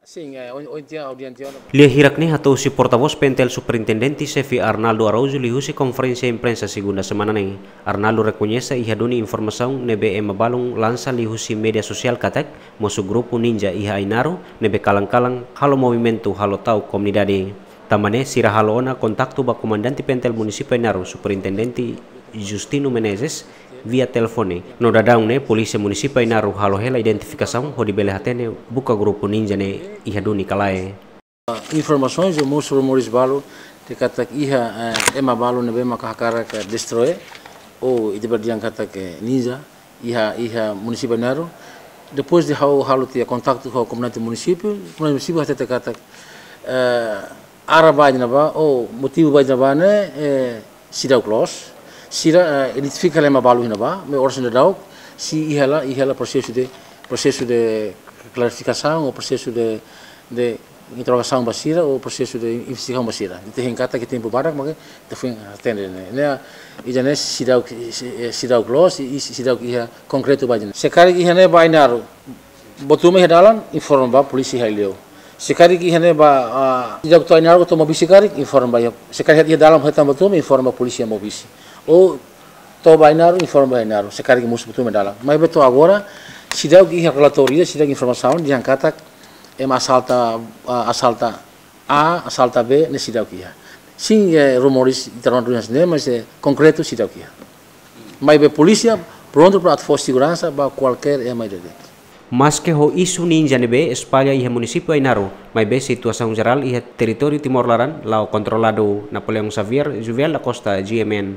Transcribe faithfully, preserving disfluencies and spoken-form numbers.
Sin, eh, oin, oin tiha, oin tiha ona. Lia hirak ne'e hato'o husi portavós PNTL Superintendente Xefe Arnaldo Araújo liuhusi konferénsia imprensa segunda semana ne'e. Arnaldo rekoñese iha duni informasaun ne'ebé ema balun lansa liuhusi média sosiál katak mosu grupu ninja iha Ainaro ne'ebé kalan-kalan halo movimentu halo ta'uk komunidade. Tanba ne'e sira halo ona kontaktu ba Komandante PNTL Munisípiu Ainaro, Superintendente Justino Menezes, via telefone. No daudaun ne'e, Polísia Munisípiu Ainaro halo hela identifikasaun hodi bele hatene buka grupu ninja ne'e iha duni ka lae. Informasaun no mós rumores balu dehan katak iha, eh, ema balu ne'ebé maka hakarak, eh, destroi, ou ita bele dehan katak, eh, ninja, iha, iha Munisípiu Ainaro. Depois de ha'u halo tiha kontaktu ho Komandante Munisípiu, Komandante Munisípiu hatete katak, eh, área ba iha ne'ebá, ou motivu ba iha ne'ebá ne'e, eh, seidauk loos. Sira, eh, identifika hela ema balu iha ne'ebá, maibé oras ne'e daudaun, sei iha hela, iha hela prosesu de, prosesu de klarifikasaun, ou prosesu de, de interrogasaun ba sira, ou prosesu de investigasaun ba sira. Ita hein katak iha tempu badak, maibé ita foin hatene ne'e. Ne'e, ida-ne'e seidauk, eh, seidauk loos, i, i seidauk iha konkretu ba iha ne'e. Se karik iha ne'e ba Ainaro, buat ruma iha dalan, informa ba polísia iha Aileu. Se karik iha ne'e ba, ah, seidauk to'o Ainaro to'o Maubisse karik, informa ba iha. Se karik iha dalan hetan buat ruma, informa ba polísia Maubisse. Ou to'o ba Ainaro, informa ba Ainaro. Se karik mosu buat ruma iha dalan. Maibé to'o agora, seidauk iha relatóriu, seidauk informasaun, dehan katak ema asalta, ah, asalta A, asalta B, ne'e seidauk iha. Sin, eh, rumores, ita rona duni hanesan ne'e, mas, eh, konkretu seidauk iha. Maibé polísia prontu para atu fó seguransa ba kualkér ema ida de'it. Maske ho isu ninja ne'ebé espalla iha Munisípiu Ainaro, maibé situasaun jerál iha territóriu Timor laran la'o kontroladu. Napoleão Xavier, Juvel da Costa, G M N.